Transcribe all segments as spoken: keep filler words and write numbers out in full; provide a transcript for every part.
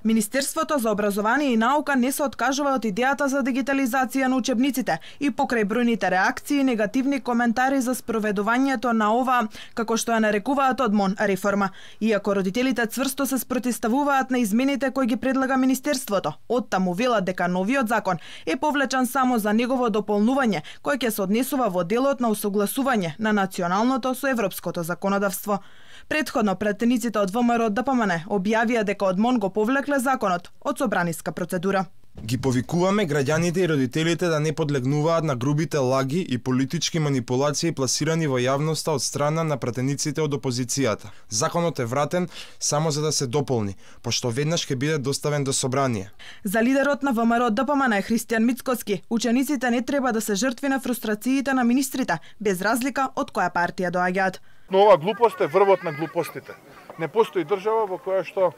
Министерството за образование и наука не се откажува од идејата за дигитализација на учебниците и покрај бројните реакции и негативни коментари за спроведувањето на ова, како што ја нарекуваат одмон, реформа. Иако родителите цврсто се спротивставуваат на измените кои ги предлага Министерството, оттаму велат дека новиот закон е повлечен само за негово дополнување, кој ќе се однесува во делот на усогласување на националното со европското законодавство. Претходно пратениците од ВМРО Д П М Н објавија дека одмон го повлекле законот од собраниска процедура. Ги повикуваме граѓаните и родителите да не подлегнуваат на грубите лаги и политички манипулации пласирани во јавноста од страна на пратениците од опозицијата. Законот е вратен само за да се дополни, пошто веднаш ќе биде доставен до собрание. За лидерот на ВМРО Д П М Н Христијан Мицкоски, учениците не треба да се жртви на фрустрациите на министрите, без разлика од која партија доаѓаат. Но ова глупост е врвот на глупостите. Не постои држава во која што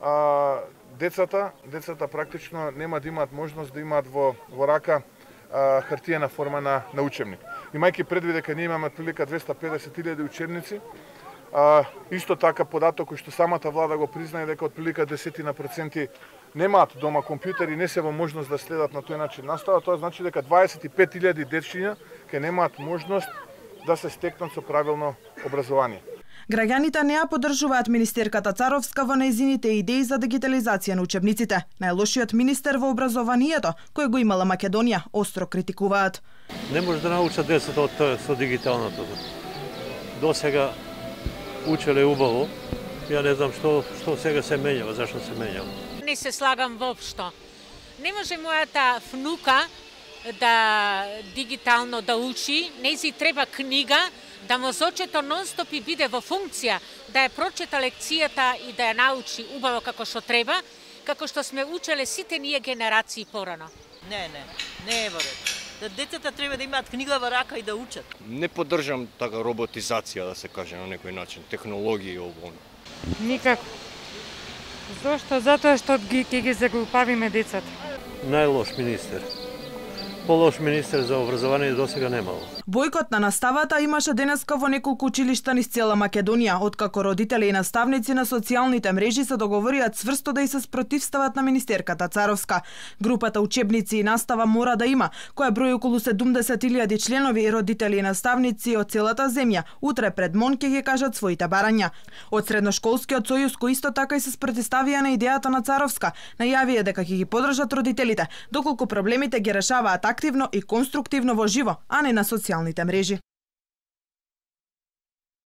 а, децата, децата практично нема да имаат можност да имаат во, во рака а, хартиена форма на, на учебник. Имајќи предвид дека ние имаме прилика двесте и педесет илјади учебници, а, исто така податок кој што самата влада го признае дека од прилика десетина проценти немаат дома компјутери, не се во можност да следат на тој начин настава, тоа значи дека дваесет и пет илјади дечиња ќе немаат можност да се стекнат со правилно образование. Граѓаните не ја поддржуваат министерката Царовска во нејзините идеи за дигитализација на учебниците. Најлошиот министер во образованието, кој го имала Македонија, остро критикуваат. Не може да научат децата од тоа со дигиталното. До сега учеле убаво. Ја не знам што што сега се менјава, зашто се менјава. Не се слагам воопшто. Не може мојата внука да дигитално да учи, нејзи треба книга, да мозочето нон-стоп и биде во функција, да ја прочита лекцијата и да ја научи убаво како што треба, како што сме учеле сите ние генерации порано. Не, не, не е во ред. Да децата треба да имаат книга во рака и да учат. Не поддржам така роботизација, да се каже на некој начин, технологија и ово. Никако. Зошто? Затоа што ги ќе ги заглупавиме децата. Најлош министер. Полош министер за образование досега немало. Бојкот на наставата имаше денеска во неколку училишта низ цела Македонија, откако родители и наставници на социјалните мрежи се договорија цврсто да и се спротивстават на министерката Царовска. Групата учебници и настава мора да има, која брои околу седумдесет илјади членови и родители и наставници од целата земја, утре пред МОН ќе ги кажат своите барања. Од Средношколскиот сојуз кој исто така и се спротивставија на идејата на Царовска, најавија дека ќе ги поддржат родителите, доколку проблемите ги решаваат активно и конструктивно во живо, а не на социјалните мрежи.